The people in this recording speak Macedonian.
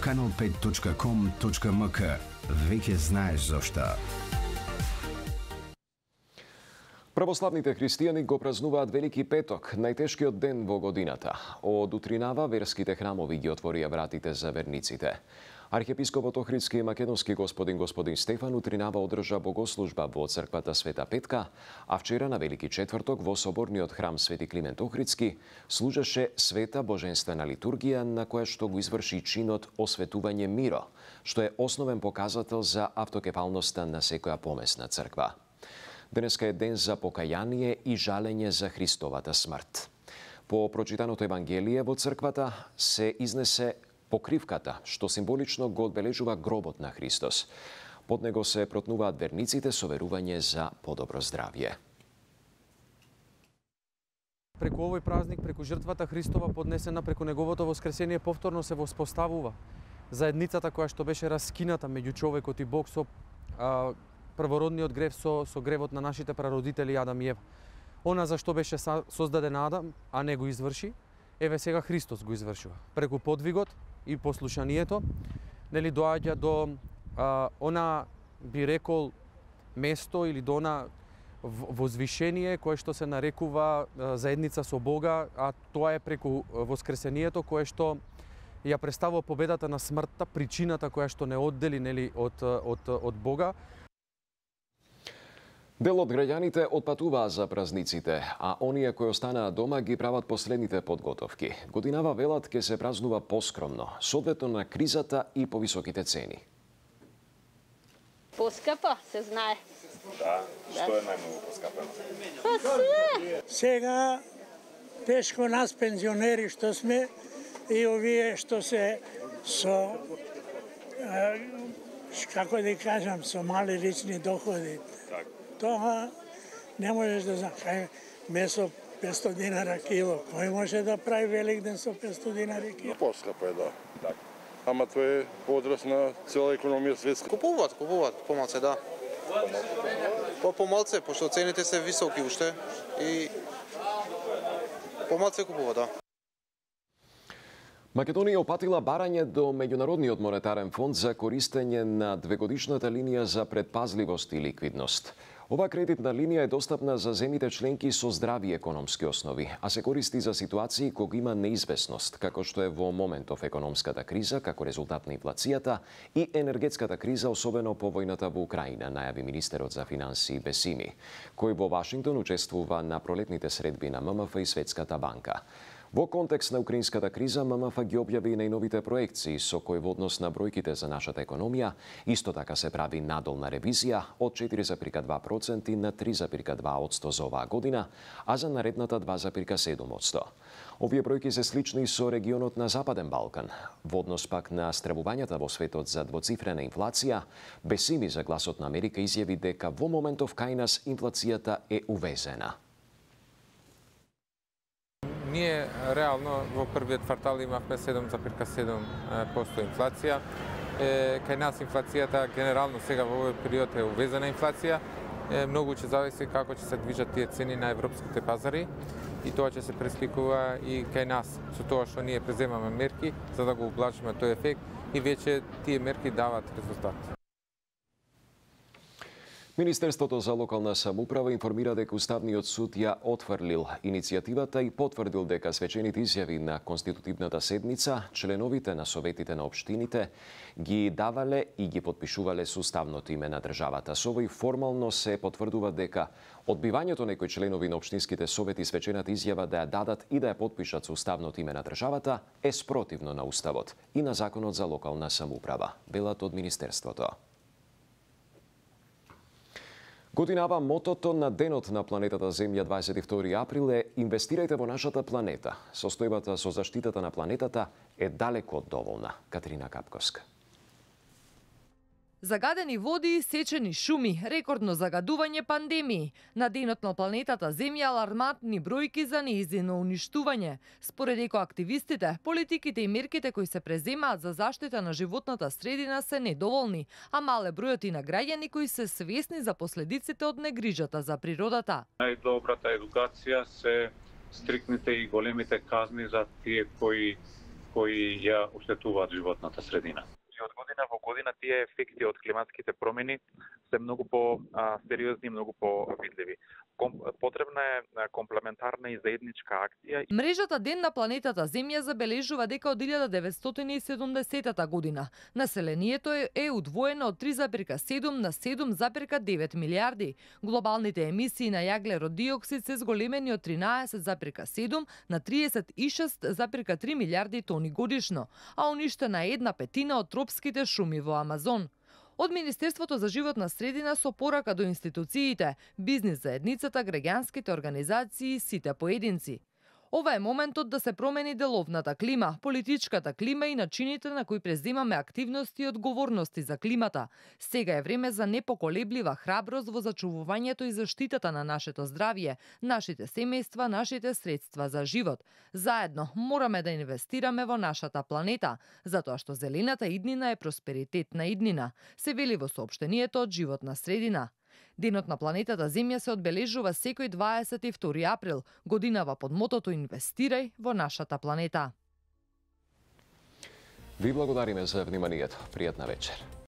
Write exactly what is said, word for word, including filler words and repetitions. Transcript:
канал пет точка ком точка ем ка. Веќе знаеш зошто. Православните христијани го празнуваат Велики петок, најтешкиот ден во годината. Од утринава верските храмови ги отворија вратите за верниците. Архиепископот Охридски и македонски господин господин Стефан утринава одржа богослужба во црквата Света Петка, а вчера на Велики четврток во соборниот храм Свети Климент Охридски служеше света божествена литургија на која што го изврши чинот осветување миро, што е основен показател за автокефалноста на секоја помесна црква. Денеска е ден за покаяние и жалење за Христовата смрт. По прочитаното Евангелие во црквата се изнесе покривката, што символично го одбележува гробот на Христос. Под него се протнуваат верниците со верување за подобро здравје. Преку овој празник, преку жртвата Христова поднесена преку неговото воскресение, повторно се воспоставува заедницата која што беше раскината меѓу човекот и Бог со а, првородниот грев, со, со гревот на нашите прародители Адам и Ева. Она за што беше создаден Адам, а не го изврши, еве сега Христос го извршува. Преку подвигот и послушанието, нели доаѓа до а, она, би рекол, место или до она возвишение кое што се нарекува а, заедница со Бога, а тоа е преку воскресението кое што ја представува победата на смртта, причината која што не оддели нели од од од Бога. Дел од граѓаните отпатуваа за празниците, а оние кои останаа дома ги прават последните подготовки. Годинава велат ке се празнува поскромно, соодветно на кризата и повисоките цени. Поскапа, се знае. Да, што е најмногу поскапено? Па се! Сега тешко нас пензионери што сме и овие што се со како да кажам, со мали лични доходи. Тоа не можеш да знаеш. Месо петстотини динара кило. Кој може да прави Великден со петстотини динари кило? Поскапо е, да. Так. Ама тоа е одраз на цела економија светска. Купуваат, купуваат, помалце, да. По помалце, пошто цените се високи уште и помалце купуваат, да. Македонија опатила барање до Меѓународниот монетарен фонд за користење на двегодишната линија за предпазливост и ликвидност. Ова кредитна линија е достапна за земите членки со здрави економски основи, а се користи за ситуации кога има неизвестност, како што е во моментов економската криза, како резултат на инфлацијата и енергетската криза, особено по војната во Украина, најави министерот за финансии Бесими, кој во Вашингтон учествува на пролетните средби на ММФ и Светската банка. Во контекст на украинската криза, ММФ ги објави и најновите проекции со кои во однос на бројките за нашата економија, исто така се прави надолна ревизија од четири зарез два проценти на три зарез два проценти за оваа година, а за наредната два зарез седум проценти. Овие бројки се слични со регионот на Западен Балкан. Во однос пак на стравувањата во светот за двоцифрена инфлација, Бесими за Гласот на Америка изјави дека во моментов кај нас инфлацијата е увезена. Ние реално во првиот квартал имавме седум зарез седум проценти инфлација. Е, кај нас инфлацијата генерално сега во овој период е увезена инфлација. Е, многу ќе зависи како ќе се движат тие цени на европските пазари и тоа ќе се пресликува и кај нас со тоа што ние преземаме мерки за да го ублажиме тој ефект и веќе тие мерки даваат резултат. Министерството за локална самоуправа информира дека Уставниот суд ја отфрлил иницијативата и потврдил дека свечените изјави на конститутивната седница членовите на советите на општините ги давале и ги подпишувале со уставното име на државата. Со овој формално се потврдува дека одбивањето некои членови на општинските совети свечената изјава да ја дадат и да ја подпишат со уставното име на државата е спротивно на Уставот и на Законот за локална самоуправа, велат од Министерството. Годинава мотото на денот на планетата Земја дваесет и втори април е инвестирајте во нашата планета. Состојбата со заштитата на планетата е далеку од доволна. Катерина Капковска. Загадени води, сечени шуми, рекордно загадување, пандемии. На денот на планетата Земја алармантни бројки за нејзино уништување. Според екоактивистите, политиките и мерките кои се преземаат за заштита на животната средина се недоволни, а мале бројот и на граѓани кои се свесни за последиците од негрижата за природата. Најдобрата едукација се стрикните и големите казни за тие кои кои ја оштетуваат животната средина. И од година во година тие ефекти од климатските промени се многу по сериозни, многу по видливи. Потребна е комплементарна и заедничка акција. Мрежата Ден на планетата Земја забележува дека од илјада деветстотини и седумдесетата година населението е удвоено од три зарез и седум на седум зарез и девет милијарди. Глобалните емисии на јаглерод диоксид се зголемени од тринаесет зарез и седум на триесет и шест зарез и три милијарди тони годишно, а уништена е една петина од тропските шуми во Амазон. Од Министерството за животна средина со порака до институциите, бизнис заедницата, граѓанските организации и сите поединци. Ова е моментот да се промени деловната клима, политичката клима и начините на кои преземаме активности и одговорности за климата. Сега е време за непоколеблива храброст во зачувувањето и заштитата на нашето здравје, нашите семејства, нашите средства за живот. Заедно мораме да инвестираме во нашата планета, затоа што зелената иднина е просперитетна иднина, се вели во соопштението од Животна средина. Денот на планетата Земја се одбележува секој дваесет и втори април, годинава под мотото Инвестирај во нашата планета. Ви благодариме за вниманието. Пријатна вечер.